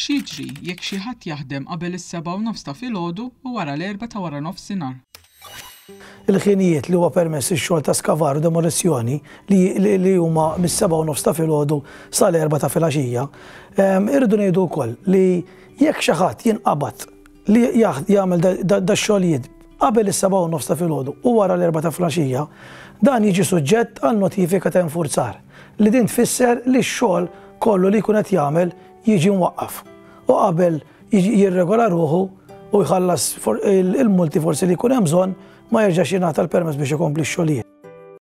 X'jiġri jekk xi ħadd jaħdem qabel is-7:30 ta' filgħodu u wara l-erbgħa ta' waranofsinhar? Il-ħinijiet li huwa permess ix-xogħol ta' skavar u demolizzjoni li li huma mis-7:30 ta' filgħodu sal-erbgħa ta' filgħaxija. Irridu ngħidu wkoll li jekk xi ħadd jinqabad li jagħmel dax-xogħlijiet qabel is-7:30 ta' filgħodu u wara l-erbgħa ta' filgħaxija, dan jiġi suġġett għal notifika ta' infurzar li din tfisser li x-xogħol kollu li jkun qed jagħmel jiġi mwaqqaf u qabel jirregola ruħu u jħallas il-multi forsi li jkun hemm bżonn ma jerġax jingħata l-permess biex ikompli x-xogħlijiet.